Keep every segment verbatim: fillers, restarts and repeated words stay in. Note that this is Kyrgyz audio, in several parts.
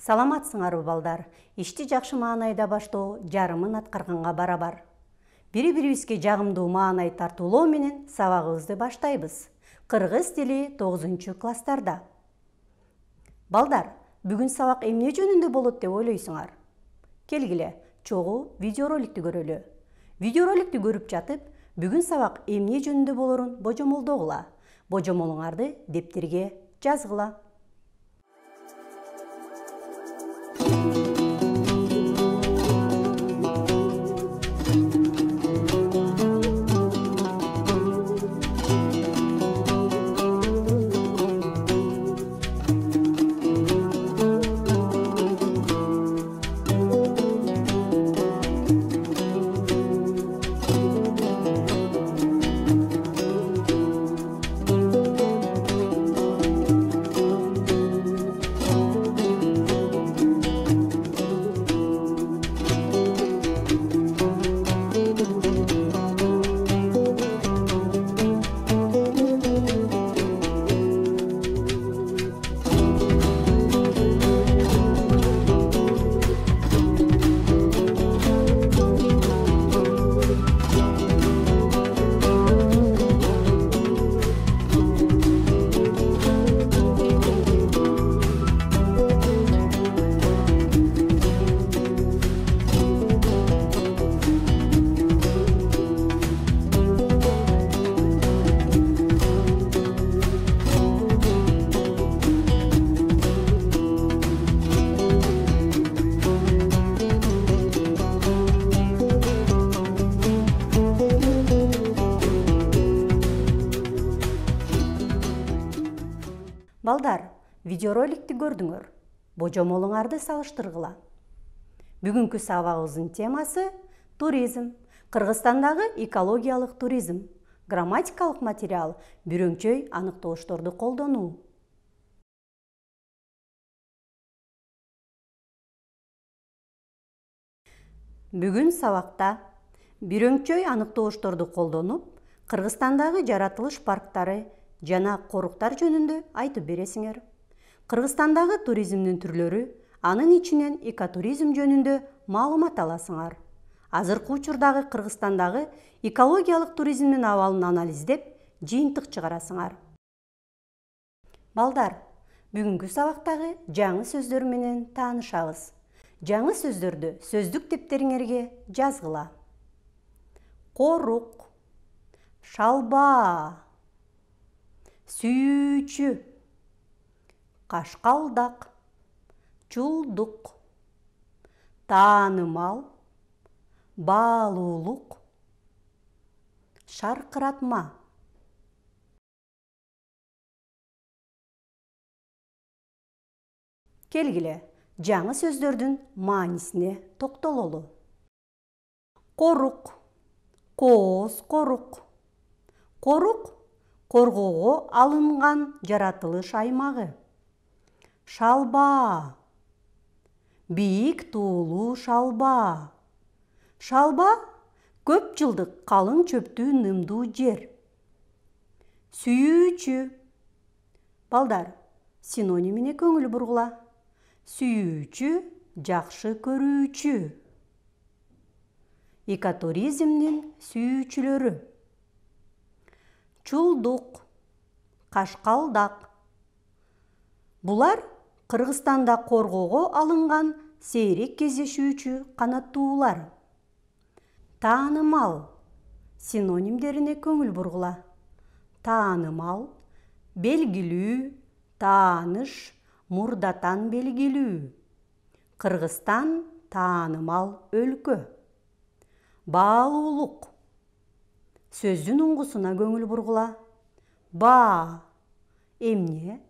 Саламатсыңарбы балдар? Ишти жакшы маанайда баштоо жарымын аткарганга барабар. Бири-бирибизге жагымдуу маанай тартуулоо менен сабагыбызды баштайбыз. Кыргыз тили тогузунчу класстарда. Балдар, бүгүн сабак эмне жөнүндө болот деп ойлойсуңар? Келгиле, чогуу видеороликти көрөлү. Видеороликти көрүп жатып, бүгүн сабак эмне жөнүндө болорун божомолдогула. Божомолуңарды дептерге жазгыла. Балдар, видеороликти көрдүңөр. Божомолуңарды салыштыргыла. Бүгүнкү сабагыбыздын темасы туризм. Кыргызстандагы экологиялык туризм. Грамматикалык материал, бирөңчөй аныктоошторду колдонуу. Бүгүн сабакта бирөңчөй аныктоошторду колдонуп, Кыргызстандагы жаратылыш парктары жана коруктар жөнүндө айтып бересиңер. Кыргызстандагы туризмдин түрлөрү, анын ичинен экотуризм жөнүндө маалымат аласыңар. Азыркы учурдагы Кыргызстандагы экологиялык туризмдин абалын анализдеп, жыйынтык чыгарасыңар. Балдар, бүгүнкү сабактагы жаңы сөздөр менен таанышабыз. Жаңы сөздөрдү сөздүк дептериңерге жазгыла. Корук, шалба, сүйүүчү, кашкалдак, чулдук, таанымал, баалуулук, шаркыратма. Келгиле, жаңы сөздөрдүн маанисине токтололу. Корук, кооз корук. Корук коргоого алынган жаратылыш аймагы. Шалба, бийик туулуу шалба. Шалба көп жылдык калың чөптүү нымдуу жер. Сүйүүчү. Балдар, синонимине көңүл бургула. Сүйүүчү, жакшы көрүүчү. Экотуризмдин сүйүүчүлөрү. Чулдук, кашкалдак. Булар Кыргызстанда коргоого алынган сейрек кездешүүчү канаттуулар. Таанымал. Синонимдерине көңүл бургула. Таанымал, белгилүү, тааныш, мурдатан белгилүү. Кыргызстан таанымал өлкө. Баалуулук. Сөздүн уңгусуна көңүл бургула. Баа. Эмне?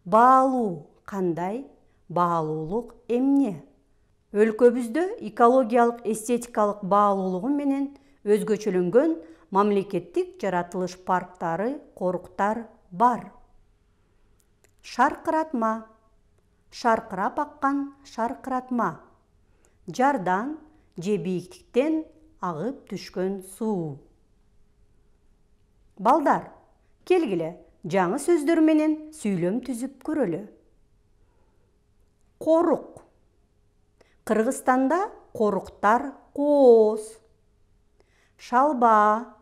Баалуу. Кандай? Баалуулук эмне? Өлкөбүздө экологиялык эстетикалык баалуулугу менен өзгөчөлөнгөн мамлекеттик жаратылыш парктары, коруктар бар. Шаркыратма. Шаркырап аккан шаркыратма. Жардан же бийиктиктен агып түшкөн суу. Балдар, келгиле, жаңы сөздөр менен сүйлөм түзүп көрөлү. Корук. Кыргызстанда коруктар кооз. Шалба.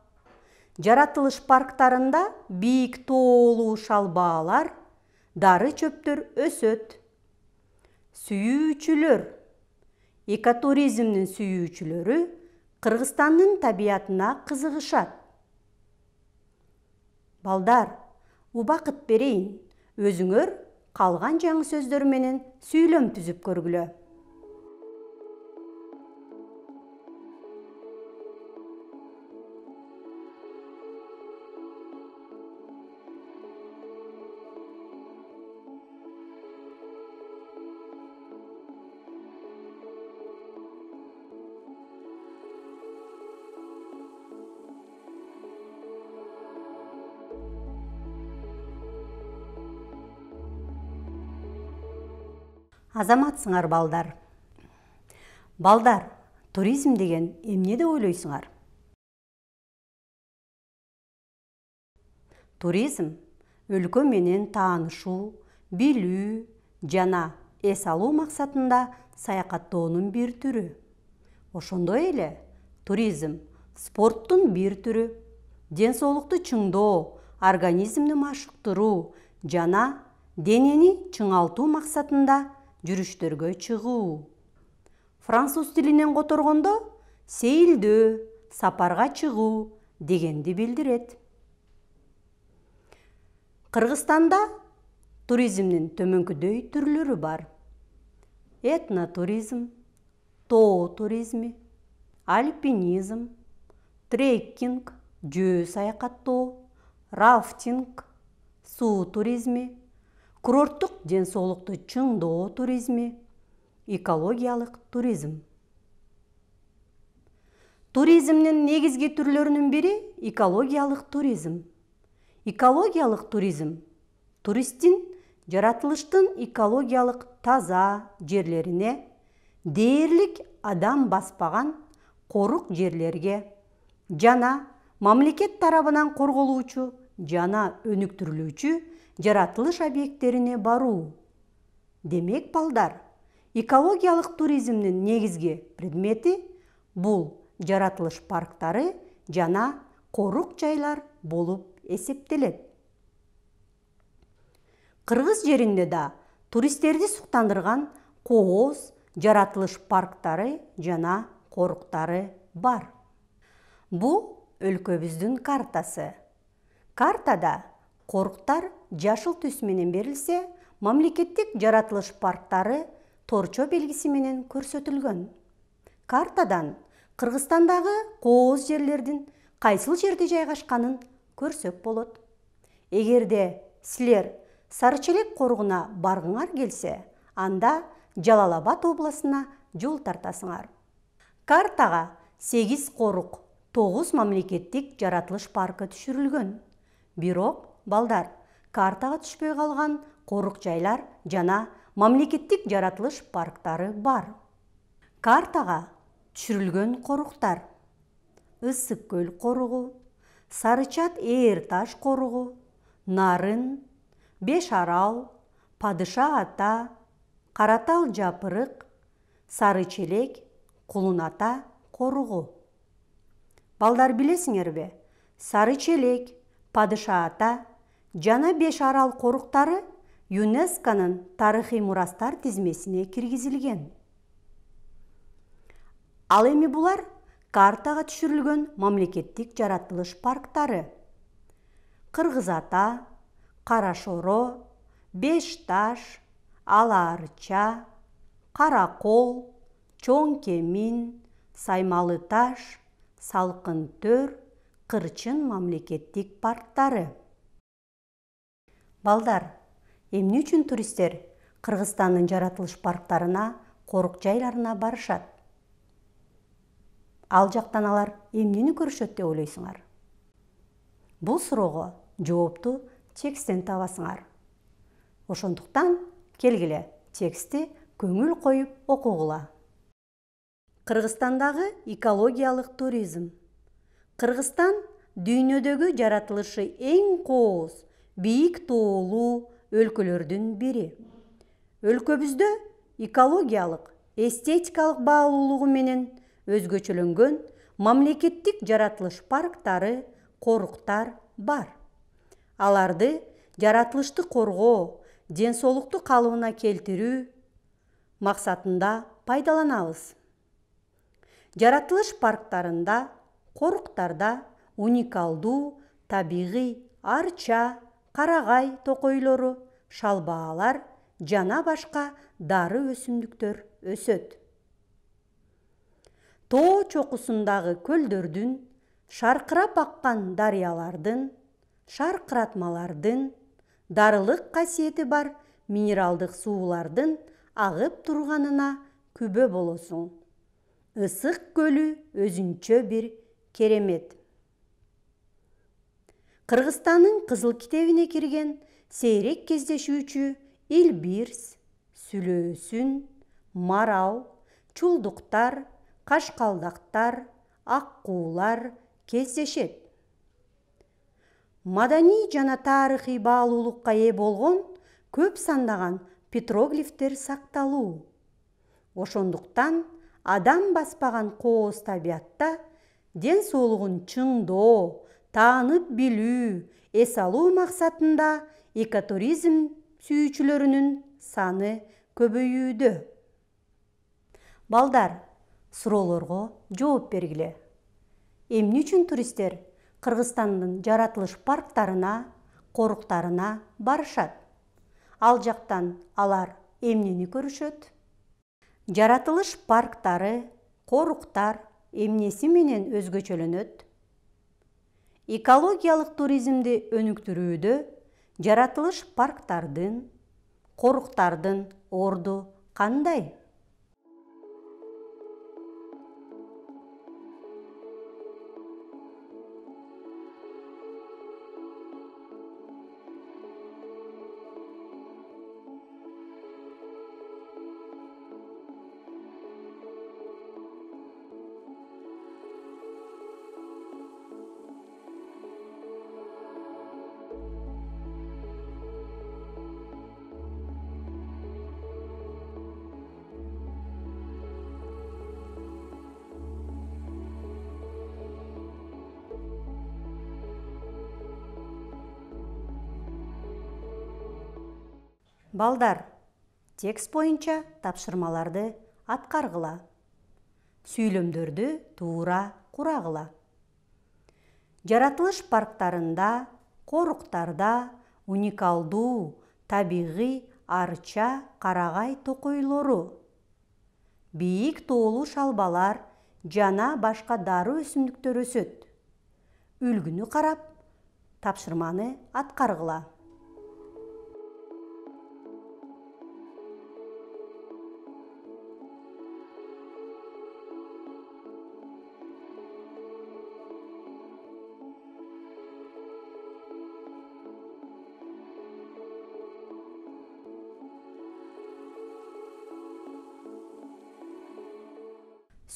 Жаратылыш парктарында бийик тоолуу шалбаалар, дары чөптөр өсөт. Сүйүүчүлөр. Экотуризмдин сүйүүчүлөрү Кыргызстандын табиятына кызыгышат. Балдар, убакыт берейин, өзүңөр калган жаңы сөздөр менен сүйлөм түзүп көргүлө. Азаматсыңар балдар. Балдар, туризм деген эмне деп ойлойсуңар? Туризм өлкө менен таанышуу, билүү жана эс алуу максатында саякаттоонун бир түрү. Ошондой эле туризм спорттун бир түрү, ден соолукту чыңдоо, организмди машыктыруу жана денени чыңалтуу максатында жүрүштөргө чыгуу. Француз тилинен которгондо сейилдөө, сапарга чыгуу дегенди билдирет. Кыргызстанда туризмдин төмөнкүдөй түрлөрү бар. Этнотуризм, тоо туризми, альпинизм, треккинг, жөө саякаттоо, рафтинг, суу туризми, курорттук ден соолукту чыңдоо туризми, экологиялык туризм. Туризмдин негизги түрлөрүнүн бири экологиялык туризм. Экологиялык туризм туристтин жаратылыштын экологиялык таза жерлерине, дээрлик адам баспаган корук жерлерге жана мамлекет тарабынан корголуучу жана өнүктүрүлүүчү жаратылыш объекттерине баруу. Демек, балдар, экологиялык туризмдин негизги предмети бул жаратылыш парктары жана корук жайлар болуп эсептелет. Кыргыз жеринде да туристтерди суктандырган кооз жаратылыш парктары жана коруктары бар. Бул өлкөбүздүн картасы. Картада коруктар жашыл түс менен берилсе, мамлекеттик жаратылыш парктары торчо белгиси менен көрсөтүлгөн. Картадан Кыргызстандагы кооз жерлердин кайсыл жерде жайгашканын көрсөк болот. Эгерде силер Сарычелек коругуна баргыңар келсе, анда Жалал-Абад областына жол тартасыңар. Картага сегиз корук, тогуз мамлекеттик жаратылыш паркы түшүрүлгөн. Бирок, балдар, картага түшпөй калган корук жайлар жана мамлекеттик жаратылыш парктары бар. Картага түшүрүлгөн коруктар: Ысык көл коругу, Сарычат Ээр таш коругу, Нарын, Беш арал, Падыша ата, Каратал жапырык, Сарычелек, Кулун ата коругу. Балдар, билесиңерби, Сарычелек, Падыша ата жана Беш арал коруктары ЮНЕСКОнун тарыхый мурастар тизмесине киргизилген. Ал эми булар картага түшүрүлгөн мамлекеттик жаратылыш парктары: Кыргыз ата, Кара шоро, Беш таш, Ала арча, Каракол, Чоң кемин, Саймалы таш, Салкын төр, Кырчын мамлекеттик парктары. Балдар, эмне үчүн туристтер Кыргызстандын жаратылыш парктарына, корук жайларына барышат? Ал жактан алар эмнени көрүшөт деп ойлойсуңар? Бул суроого жоопту тексттен табасыңар. Ошондуктан келгиле текстти көңүл коюп окугула. Кыргызстандагы экологиялык туризм. Кыргызстан дүйнөдөгү жаратылышы эң кооз, бийик тоолуу өлкөлөрдүн бири. Өлкөбүздө экологиялык, эстетикалык баалуулугу менен өзгөчөлөнгөн мамлекеттик жаратылыш парктары, коруктар бар. Аларды жаратылышты коргоо, ден соолукту калыбына келтирүү максатында пайдаланабыз. Жаратылыш парктарында, коруктарда уникалдуу табигый арча, карагай токойлору, шалбаалар жана башка дары өсүмдүктөр өсөт. Тоо чокусундагы көлдөрдүн, шаркырап аккан дарыялардын, шаркыратмалардын, дарылык касиети бар минералдык суулардын агып турганына күбө болосуң. Ысык көлү өзүнчө бир керемет. Кыргызстандын кызыл китебине кирген сейрек кездешүүчү илбирс, сүлөөсүн, марал, чулдуктар, кашкалдактар, аккуулар кездешет. Маданий жана тарыхый баалуулукка ээ болгон көп сандаган петроглифтер сакталуу. Ошондуктан адам баспаган кооз табиятта ден соолугун чыңдоо, таанып билүү, эс алуу максатында экотуризм сүйүүчүлөрүнүн саны көбөйүүдө. Балдар, суроолорго жооп бергиле. Эмне үчүн туристтер Кыргызстандын жаратылыш парктарына, коруктарына барышат? Ал жактан алар эмнени көрүшөт? Жаратылыш парктары, коруктар эмнеси менен өзгөчөлөнөт? Экологиялык туризмди өнүктүрүүдө жаратылыш парктардын, коруктардын орду кандай? Балдар, текст боюнча тапшырмаларды аткаргыла. Сүйлөмдөрдү туура курагыла. Жаратылыш парктарында, коруктарда уникалдуу табигый арча, карагай токойлору, бийик тоолуу шалбалар жана башка дары өсүмдүктөр өсөт. Үлгүнү карап, тапшырманы аткаргыла.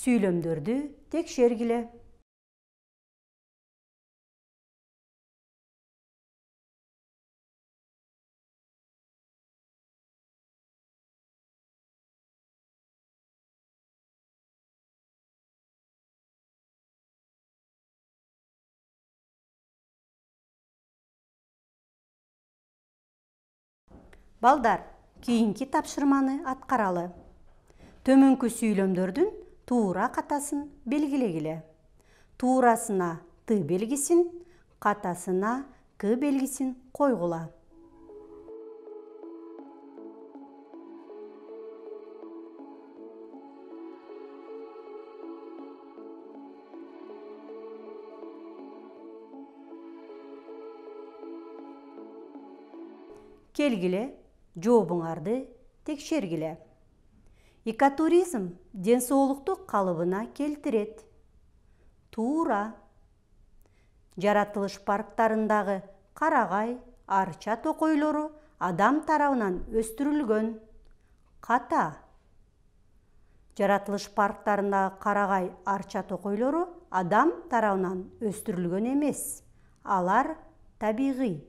Сүйлөмдөрдү текшергиле. Балдар, кийинки тапшырманы аткаралы. Төмөнкү сүйлөмдөрдүн туура катасын белгилегиле. Туурасына Т белгисин, катасына К белгисин койгула. Келгиле, жообуңарды текшергиле. Экотуризм ден соолукту калыбына келтирет. Туура. Жаратылыш парктарындагы карагай, арча токойлору адам тарабынан өстүрүлгөн. Ката. Жаратылыш парктарындагы карагай, арча токойлору адам тарабынан өстүрүлгөн эмес. Алар табигый.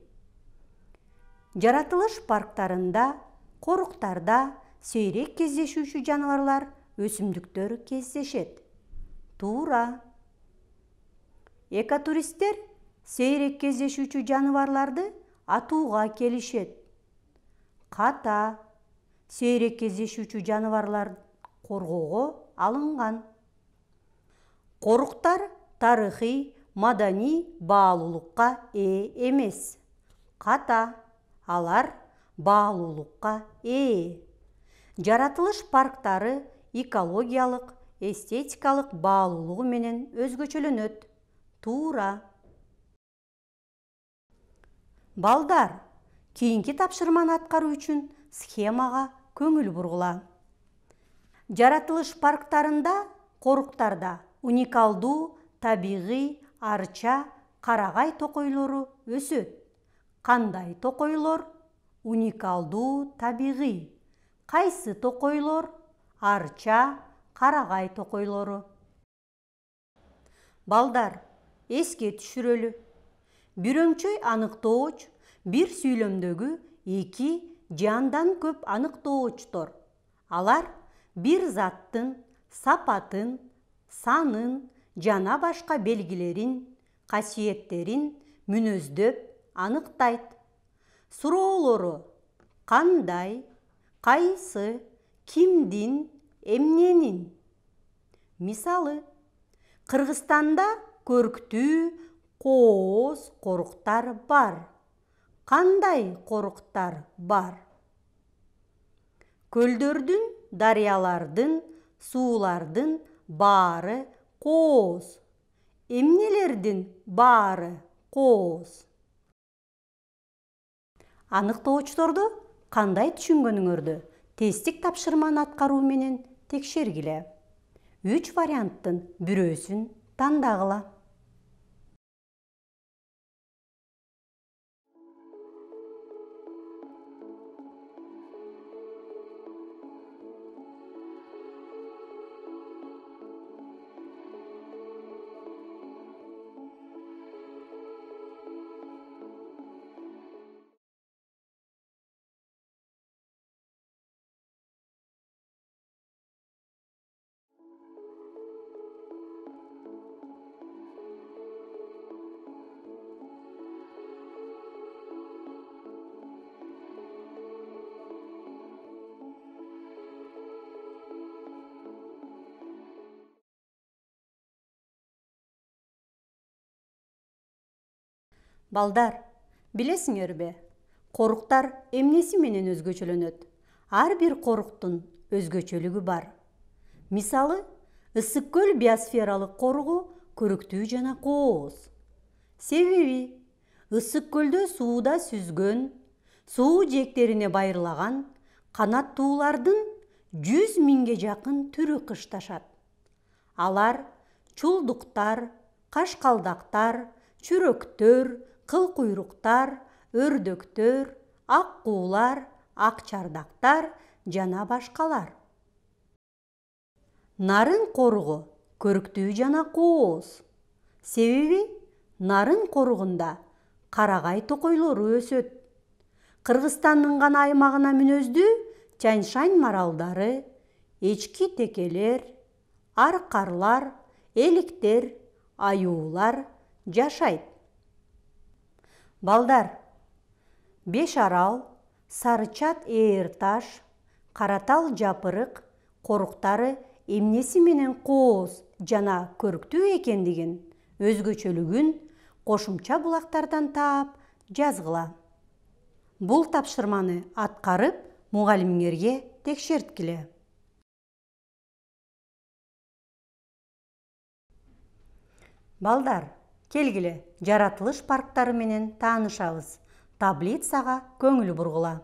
Жаратылыш парктарында, коруктарда сейрек кездешүүчү жаныбарлар өсүмдүктөр кездешет. Туура. Экотуристтер сейрек кездешүүчү жаныбарларды атууга келишет. Ката. Сейрек кездешүүчү жаныбарлар коргоого алынган. Коруктар тарыхый, маданий баалуулукка ээ эмес. Ката. Алар баалуулукка ээ. Жаратылыш парктары экологиялык, эстетикалык баалуулугу менен өзгөчөлөнөт. Туура. Балдар, кийинки тапшырманы аткаруу үчүн схемага көңүл бургула. Жаратылыш парктарында, коруктарда уникалдуу табигый арча, карагай токойлору өсөт. Кандай токойлор? Уникалдуу табигый. Кайсы токойлор? Арча, карагай токойлору. Балдар, эске түшүрөлү. Бирөңчөй аныктооч бир сүйлөмдөгү эки же андан көп аныктоочтор. Алар бир заттын сапатын, санын жана башка белгилерин, касиеттерин мүнөздөп аныктайт. Суроолору: кандай, кайсы, кимдин, эмненин. Мисалы, Кыргызстанда көрктүү кооз коруктар бар. Кандай коруктар бар? Көлдөрдүн, дарыялардын, суулардын баары кооз. Эмнелердин баары кооз? Аныктоочторду кандай түшүнгөнүңөрдү тесттик тапшырманы аткаруу менен текшергиле. Үч варианттын бирөөсүн тандагыла. Балдар, билесиңерби, коруктар эмнеси менен өзгөчөлөнөт? Ар бир коруктун өзгөчөлүгү бар. Мисалы, Ысык көл биосфералык коругу көрүктүү жана кооз. Себеби Ысык көлдө сууда сүзгөн, суу жээктерине байырлаган канаттуулардын жүз миңге жакын түрү кышташат. Алар чулдуктар, кашкалдактар, чүрөктөр, кылкуйруктар, өрдөктөр, аккуулар, акчардактар жана башкалар. Нарын коругу көрүктүү жана кооз. Себеби нарын коругунда карагай токойлору өсөт. Кыргызстандын гана аймагына мүнөздүү Тянь-Шань маралдары, эчки текелер, аркарлар, эликтер, аюулар жашайт. Балдар, Беш арал, Сарычат ээр таш, Каратал жапырык коруктары эмнеси менен кооз жана көрктүү экендигин, өзгөчөлүгүн кошумча булактардан таап жазгыла. Бул тапшырманы аткарып, мугалимиңерге текшерткиле. Балдар, келгиле, жаратылыш парктары менен таанышабыз. Таблицага көңүл бургула.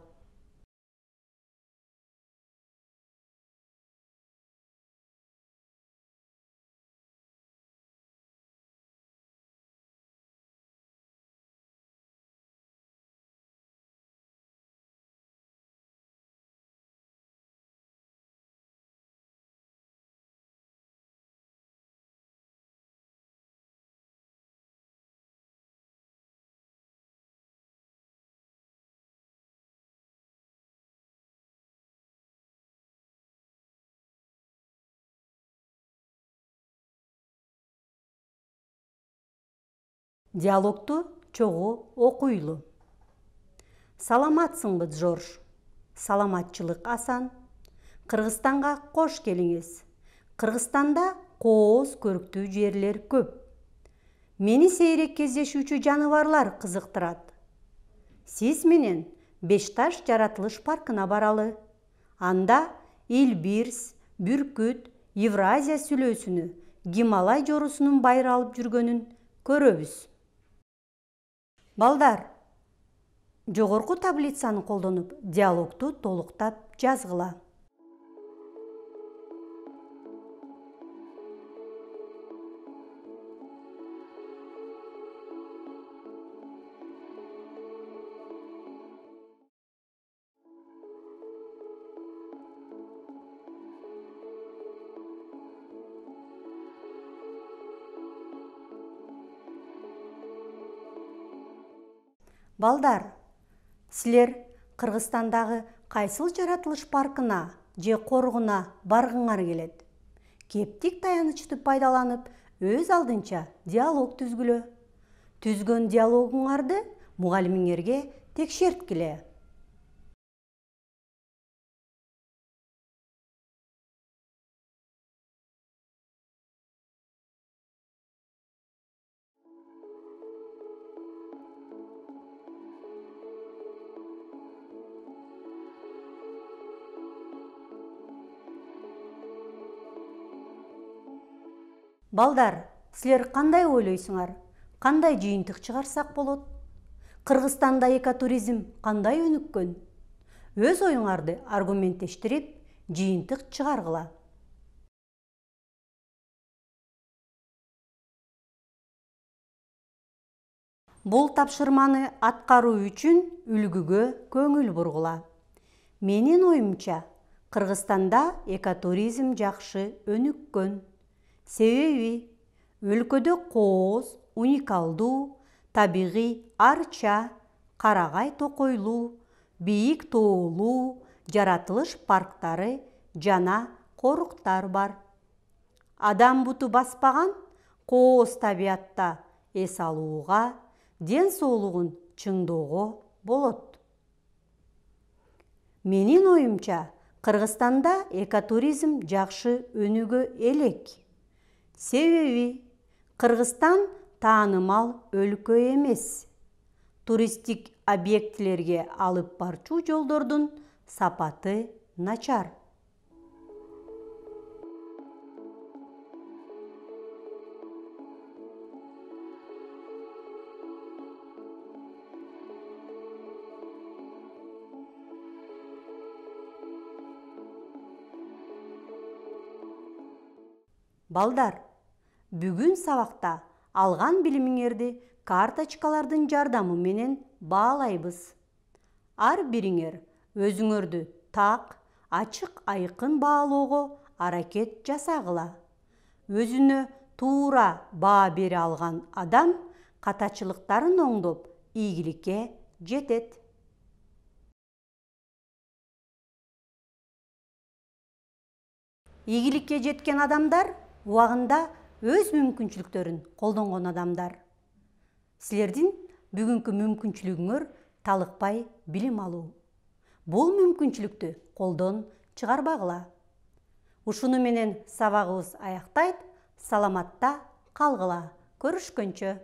Диалогту чогуу окуйлу. Саламатсыңбы, Жорж? Саламатчылык асан. Кыргызстанга кош келиңиз. Кыргызстанда кооз көрктүү жерлер көп. Мени сейрек кездешүүчү жаныбарлар кызыктырат. Сиз менен Бешташ жаратылыш паркына баралы. Анда Элбирс, Бүркүт, Евразия сүлөөсүнү, Гималай жоорусунун байыр алып жүргөнүн көрөбүз. Балдар, жогорку таблицаны колдонуп, диалогту толуктап жазгыла. Балдар, силер Кыргызстандагы кайсыл жаратылыш паркына же коргуна баргыңар келет? Кептик таянычты пайдаланып, өз алдынча диалог түзгүлө. Түзгөн диалогуңарды мугалимиңерге текшерткиле. Балдар, силер кандай ойлойсуңар? Кандай жыйынтык чыгарсак болот? Кыргызстанда экотуризм кандай өнүккөн? Өз оюңарды аргументтештирип, жыйынтык чыгаргыла. Бул тапшырманы аткаруу үчүн үлгүгө көңүл бургула. Менин оюмча, Кыргызстанда экотуризм жакшы өнүккөн. Себеби өлкөдө кооз, уникалдуу, табигый арча, карагай токойлуу, бийик тоолуу жаратылыш парктары жана коруктар бар. Адам буту баспаган кооз табиятта эс алууга, ден соолугун чыңдоого болот. Менин оюмча, Кыргызстанда экотуризм жакшы өнүгө элек. Себеби Кыргызстан таанымал өлкө эмес. Туристтик объектилерге алып барчу жолдордун сапаты начар. Балдар, бүгүн сабакта алган билимиңерди карточкалардын жардамы менен баалайбыз. Ар бириңер өзүңөрдү так, ачык айкын баалоого аракет жасагыла. Өзүнө туура баа бере алган адам катачылыктарын оңдоп, ийгиликке жетет. Ийгиликке жеткен адамдар убагында өз мүмкүнчүлүктөрүн колдонгон адамдар. Силердин бүгүнкү мүмкүнчүлүгүңөр талыкпай билим алуу. Бул мүмкүнчүлүктү колдон чыгарбагыла. Ушуну менен сабагыбыз аяктайт. Саламатта калгыла. Көрүшкөнчө.